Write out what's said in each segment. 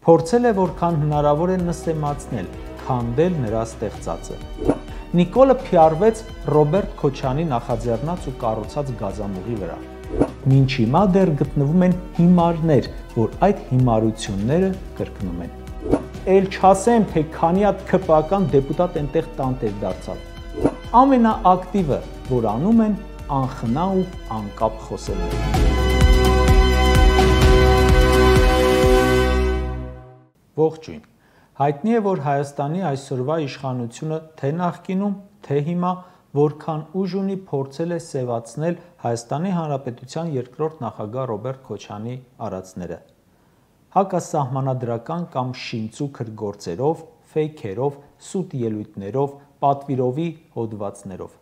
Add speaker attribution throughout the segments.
Speaker 1: Փորձել է որքան հնարավոր է նսեմացնել, քանդել նրա ստեղծածը։ Նիկոլը փիառվեց Ռոբերտ Քոչյանի նախաձեռնած ու կառուցած գազամուղի վրա։ Մինչ հիմա դեռ գտնվում են հիմարներ, որ այդ հիմարությունները կրկնում են։ Էլ չասեմ, թե քանի հատ ՔՊԱ-կան դեպուտատ այնտեղ տանտեր դարձավ։ Ամենաակտիվը, որ անում են, անխնա ու անկապ խոսելն է։ Ողջույն։ Հայտնի է, որ Հայաստանի այսօրվա իշխանությունը թե նախկինում, թե հիմա որքան ուժ ունի փորձել է սևացնել Հայաստանի Հանրապետության երկրորդ նախագահ Ռոբերտ Քոչյանի արածները։ Հակասահմանադրական կամ շինծուքր գործերով, ֆեյքերով, սուտ ելույթներով, պատվիրովի հոդվածներով։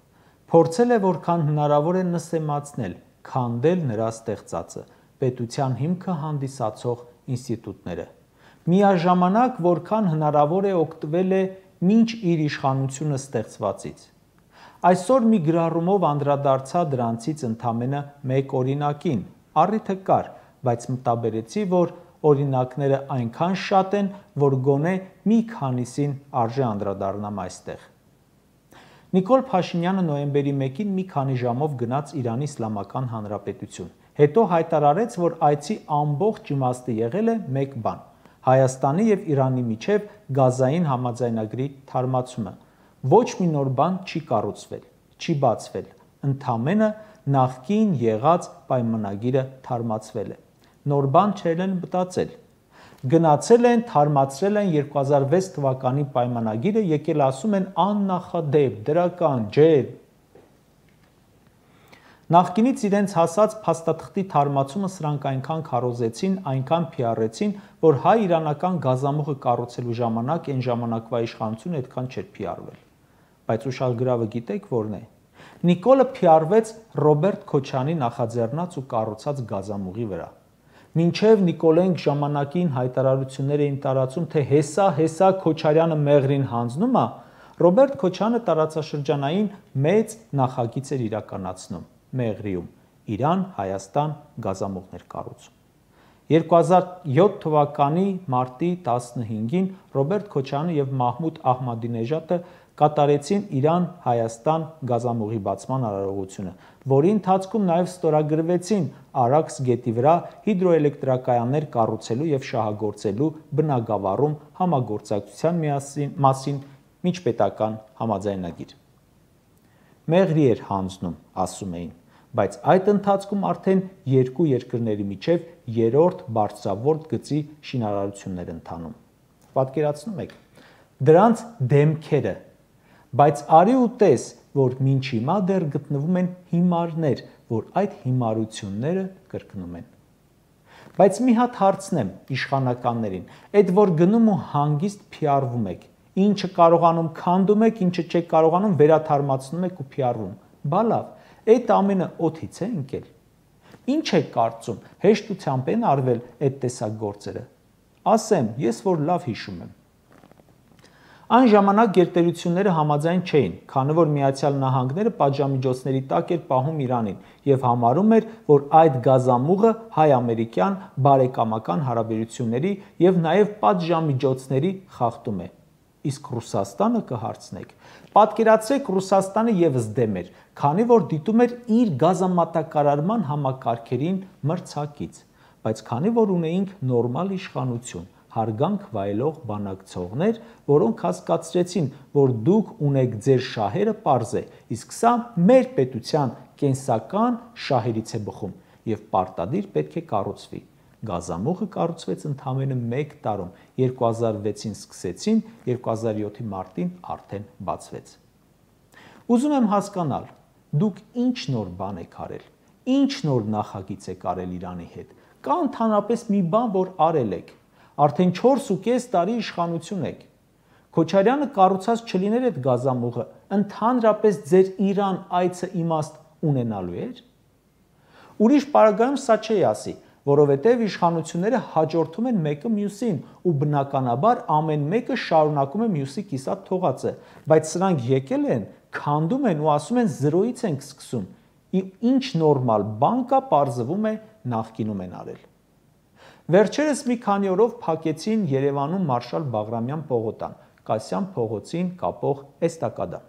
Speaker 1: Փորձել է որքան հնարավոր է նսեմացնել, քանդել նրա ստեղծածը, պետության հիմքը հանդիսացող ինստիտուտները։ Միաժամանակ որքան հնարավոր է օգտվել է մինչ իր իշխանությունը ստեղծվածից։ Այսօր մի գրառումով անդրադարձա դրանցից ընդամենը մեկ օրինակին, առիթը կար, բայց մտաբերեցի, որ օրինակները այնքան շատ են, որ գոնե մի քանիսին արժե անդրադառնամ այստեղ։ Նիկոլ Փաշինյանը նոյեմբերի 1-ին մի քանի ժամով գնաց Իրանի Իսլամական Հանրապետություն, հետո հայտարարեց, որ այցի ամբողջ իմաստը եղել է մեկ բան՝ Հայաստանի և Իրանի միջև գազային համաձայնագրի թարմացումը։ Ոչ մի նոր բան չի կառուցվել, չի բացվել, ընդամենը նախկին եղած պայմանագիրը թարմացվել է։ Նոր բան չել են մտածել։ Գնացել են, թարմացրել են 2006 թվականի պայմանագիրը, եկել ասում են աննախադեպ, դրական, ջեր։ Նախկինից իրենց հասած փաստաթղթի թարմացումը սրանք այնքան քարոզեցին, այնքան փիառեցին, որ հայ-իրանական գազամուղը կառուցելու ժամանակ այն ժամանակվա իշխանությունը այդքան չէր փիառվել։ Բայց ուշագրավը գիտեք որն է։ Նիկոլը փիառվեց Ռոբերտ Քոչյանի նախաձեռնած ու կառուցած գազամուղի վրա։ Մինչև Նիկոլենք ժամանակին հայտարարություններ էին տարածում, թե հեսա Քոչարյանը մեղրին հանձնում է, Ռոբերտ Քոչյանը տարածաշրջանային մեծ նախագիծ էր իրականացնում Մեղրիում, Իրան-Հայաստան գազամուղներ կառուցում։ 2007 թվականի մարտի 15-ին Ռոբերտ Քոչյանը և Մահմուդ Ահմադինեժադը կատարեցին Իրան-Հայաստան գազամուղի բացման արարողությունը, որի ընթացքում նաև ստորագրվեցին Արաքս գետի վրա հիդրոէլեկտրակայաններ կառուցելու և շահագործելու բնագավառում համագործակցության մասին միջպետական համաձայնագիր։ Մեղրի էր հանձնում, ասում էին, բայց այդ ընթացքում արդեն երկու երկրների միջև երրորդ բարձրավարդ գծի շինարարություններ ընթանում։ Պատկերացնում եք դրանց դեմքերը, բայց արի ու տես, որ մինչ հիմա դեռ գտնվում են հիմարներ, որ այդ հիմարությունները կրկնում են։ Բայց մի հատ հարցնեմ իշխանականներին, այդ որ գնում ու հանգիստ փիառվում եք, ինչը կարողանում քանդում եք, ինչը չեք կարողանում վերաթարմացնում եք ու փիառվում։ Բա լավ, այդ ամենը օդից է ընկել։ Ինչ եք կարծում, հեշտությամբ են արվել այդ տեսակ գործերը։ Ասեմ, ես որ լավ հիշում եմ։ Այն ժամանակ գերտերությունները համաձայն չէին, քանի որ Միացյալ Նահանգները պատժամիջոցների տակ էր պահում Իրանին և համարում էր, որ այդ գազամուղը հայ-ամերիկյան բարեկամական հարաբերությունների և նաև պատժամիջոցների խախտում է։ Իսկ Ռուսաստանը կհարցնեք։ Պատկերացրեք Ռուսաստանը ևս դեմ էր, քանի որ դիտում էր իր գազամատակարարման համակարգերին մրցակից, բայց քանի որ ունեինք նորմալ իշխանություն, հարգանք վայելող բանակցողներ, որոնք հասկացրեցին, որ դուք ունեք ձեր շահերը պարզ է, իսկ սա մեր պետության կենսական շահերից է բխում և պարտադիր պետք է կառուցվի։ Գազամուղը կառուցվեց ընդամենը 1 տարում, 2006-ին սկսեցին, 2007-ի մարտին արդեն բացվեց։ Ուզում եմ հասկանալ, դուք ինչ նոր բան եք արել, ինչ նոր նախագիծ եք արել Իրանի հետ, կա ընդհանրապես մի բան, որ արել եք, արդեն 4.5 տարի իշխանություն եք։ Քոչարյանը կառուցած չլիներ այդ գազամուղը, ընդհանրապես ձեր Իրան այցը իմաստ ունենալու էր։ Ուրիշ պարագայում սա չի ասի, որովհետև իշխանությունները հաջորդում են մեկը մյուսին ու բնականաբար ամեն մեկը շարունակում է մյուսի կիսատ թողածը, բայց սրանք եկել են, քանդում են ու ասում են զրոյից ենք սկսում։ Ինչ նորմալ բան կա, պարզվում է նախկինում են արել։ Վերջերս մի քանի օրով փակեցին Երևանում Մարշալ Բաղրամյան պողոտան, Կասյան փողոցին կապող էստակադան։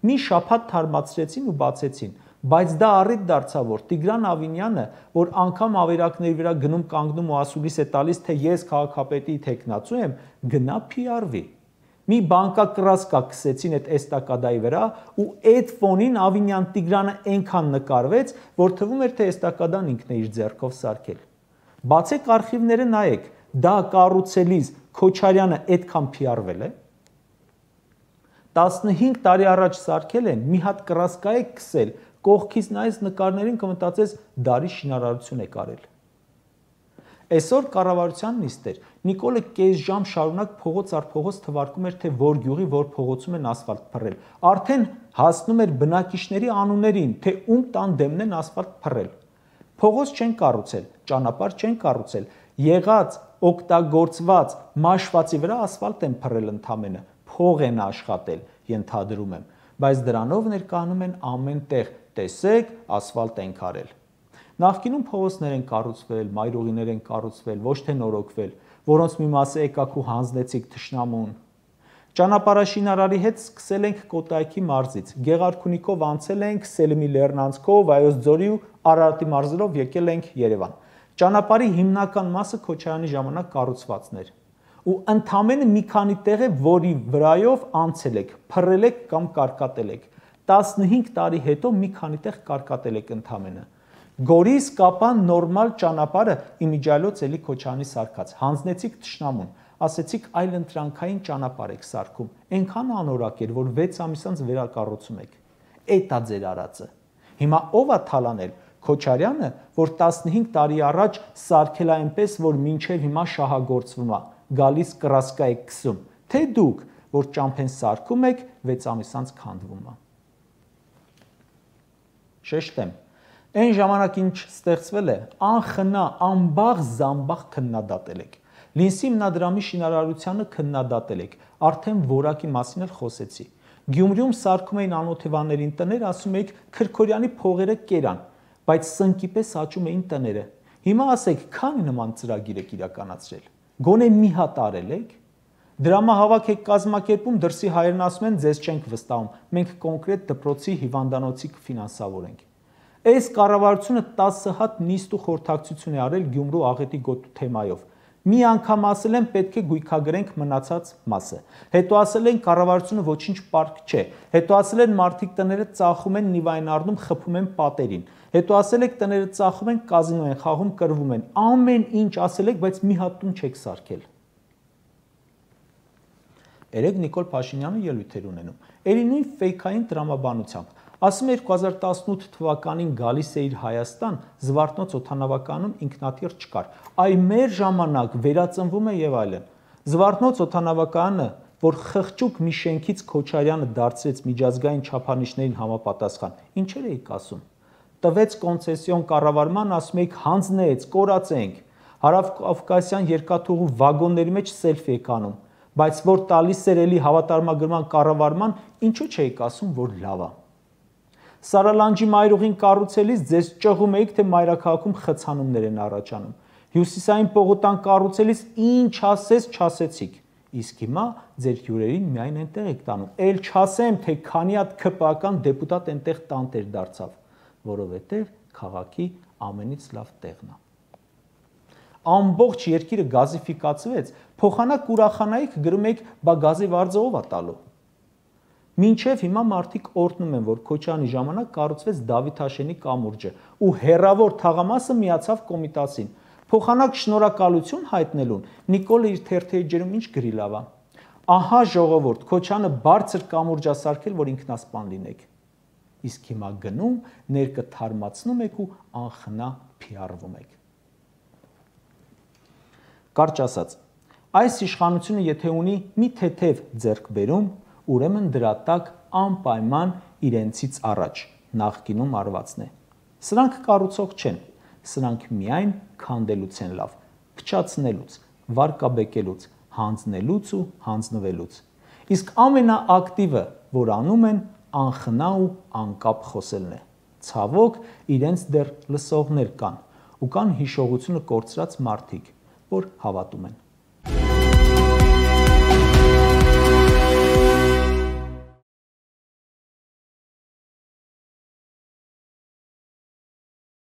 Speaker 1: Մի շաբաթ թարմացրեցին ու բացեցին, բայց դա առիթ դարձավ, որ Տիգրան Ավինյանը, որ անգամ ավերակների վրա գնում կանգնում ու ասուլիս է տալիս, թե ես քաղաքապետի թեկնածու եմ, գնա PR-վի։ Մի բանկակռասկա քսեցին այդ էստակադայի վրա ու այդ ֆոնին Ավինյան Տիգրանը այնքան նկարվեց, որ թվում էր, թե էստակադան ինքն է իր ձեռքով սարքել։ Բացեք արխիվները նայեք, դա կառուցելիս Քոչարյանը այդքան PR-վել է։ 15 տարի առաջ սարքել են, մի հատ կռասկա է քսել, կողքից նայես նկարներին կմտածես դարի շինարարություն է կարել։ Այսօր կառավարության նիստ էր, Նիկոլը կես ժամ շարունակ փողոց առ փողոց թվարկում էր, թե որ գյուղի որ փողոցում են ասֆալտ փռել։ Արդեն հասնում էր բնակիչների անուններին, թե ում տան դեմն են ասֆալտ փռել։ Փողոց չեն կառուցել, ճանապարհ չեն կառուցել, եղած, օգտագործված, մաշվածի վրա ասֆալտ են փռել ընդամենը, փող են աշխատել, ենթադրում եմ, բայց դրանով ներկայանում են ամեն տեղ, տեսեք, ասֆալտ են քարել։ Նախկինում փողոցներ են կառուցվել, մայրուղիներ են կառուցվել, ոչ թե նորոգվել, որոնց մի մասը եկաք ու հանձնեցիք թշնամուն։ Ճանապարհաշինարարի հետ սկսել ենք Կոտայքի մարզից, Գեղարքունիքով անցել ենք Սելիմի Լեռնանցքով, Վայոց ձորի ու Արարատի մարզերով եկել ենք Երևան։ Ճանապարհի հիմնական մասը Քոչարյանի ժամանակ կառուցվածներ։ Ու ընդամենը մի քանի տեղ է, որի վրայով անցել եք, փռել եք կամ կարկատել եք։ 15 տարի հետո մի քանի տեղ կարկատել եք ընդամենը։ Գորիս Կապան նորմալ ճանապարհը իմիջիայլոց էլի Քոչարյանի սարքած, հանձնեցիք թշնամուն, ասեցիք այլ ընտրանքային ճանապարհ եք սարքում, այնքան անորակ էր, որ 6 ամիս անց վերակառուցում եք։ Էդ է ձեր արածը։ Հիմա ով է թալանել, Քոչարյանը, որ 15 տարի առաջ սարքել է այնպես, որ մինչև հիմա շահագործվում է, գալիս կռասկա եք քսում, թե դուք, որ ճամփեն սարքում եք, 6 ամիս անց քանդվում է։ Շեշտեմ, այն ժամանակ ինչ ստեղծվել է, անխնա, անբաղ զամբաղ քննադատել եք։ Լինսի հիմնադրամի շինարարությանը քննադատել եք, արդեն որակի մասին էլ խոսեցի։ Գյումրիում սարքում էին անօթևաններին տներ, ասում եք Քրքորյանի փողերը կերան, բայց սնկի պես աճում էին տները։ Հիմա ասեք, քանի նման ծրագիր եք իրականացրել։ Գոնե մի հատ արել եք։ Դրամահավաք եք կազմակերպում, դրսի հայերն ասում են, ձեզ չենք վստահում, մենք կոնկրետ դպրոցի հիվանդանոցի կֆինանսավորենք։ Այս կառավարությունը 10 հատ նիստ ու խորհրդակցություն է արել Գյումրու աղետի գոտու թեմայով։ Մի անգամ ասել են պետք է գույքագրենք մնացած մասը։ Հետո ասել են կառավարությունը ոչինչ պարկ չէ։ Հետո ասել են մարդիկ տները ծախում են նիվային առնում, խփում են պատերին։ Հետո ասել եք տները ծախում են, կազինո են խաղում, կռվում են։ Ամեն ինչ ասել եք, բայց մի հատ տուն չեք սարքել։ Երեք Նիկոլ Փաշինյանը ելույթ էր ունենում։ Էլի նույն ֆեյքային տրամաբանությամբ։ Ասում է 2018 թվականին գալիս է իր Հայաստան, Զվարթնոց օդանավականում ինքնաթիռ չկար։ Այ մեր ժամանակ վերածնվում է եւ այլն։ Զվարթնոց օդանավականը, որ խղճուկ մի շենքից Քոչարյանը դարձրեց միջազգային չափանիշներին համապատասխան, ինչեր էիք ասում։ Տվեց կոնցեսիոն կառավարման, ասում եք հանձնեց, կորացենք։ Հարավկովկասյան երկաթուղու վագոնների մեջ սելֆի եք անում, բայց որ տալիս էր էլի հավատարմագրման կառավարման, ինչու չէիք ասում, որ լավ է։ Սարալանջի մայրուղին կառուցելիս ձեզ ճղում էիք, թե մայրաքաղաքում խցանումներ են առաջանում։ Հյուսիսային պողոտան կառուցելիս ինչ ասես չասեցիք։ Իսկ հիմա ձեր հյուրերին միայն այնտեղ եք տանում։ Էլ չասեմ, թե քանի հատ ԿՊԱ-ական դեպուտատ այնտեղ տանտեր դարձավ, որովհետև քաղաքի ամենից լավ տեղն է։ Ամբողջ երկիրը գազիֆիկացվեց, փոխանակ ուրախանայիք գրում եք, բա գազի վարձը ով է տալու։ Մինչև հիմա մարդիկ օրհնում են, որ Քոչարյանի ժամանակ կառուցվեց Դավիթաշենի կամուրջը ու հերավոր թաղամասը միացավ Կոմիտասին։ Փոխանակ շնորհակալություն հայտնելուն Նիկոլը իր թերթերի ջերում ինչ գրի լավ է։ Ահա ժողովուրդ, Քոչարյանը բարձր կամուրջ է սարքել, որ ինքնասպան լինեք։ Իսկ հիմա գնում, ներկը թարմացնում եք ու անխնա PR-վում եք։ Կարճ ասած, այս իշխանությունը եթե ունի մի թեթև ձեռքբերում, ուրեմն դրա տակ անպայման իրենցից առաջ նախկինում արվածն է։ Սրանք կառուցող չեն, սրանք միայն քանդելուց են լավ, փչացնելուց, վարկաբեկելուց, հանձնելուց ու հանձնվելուց։ Իսկ ամենաակտիվը, որ անում են, անխնա ու անկապ խոսելն է։ Ցավոք, իրենց դեռ լսողներ կան ու կան հիշողությունը կորցրած մարդիկ։ որ հավատում են։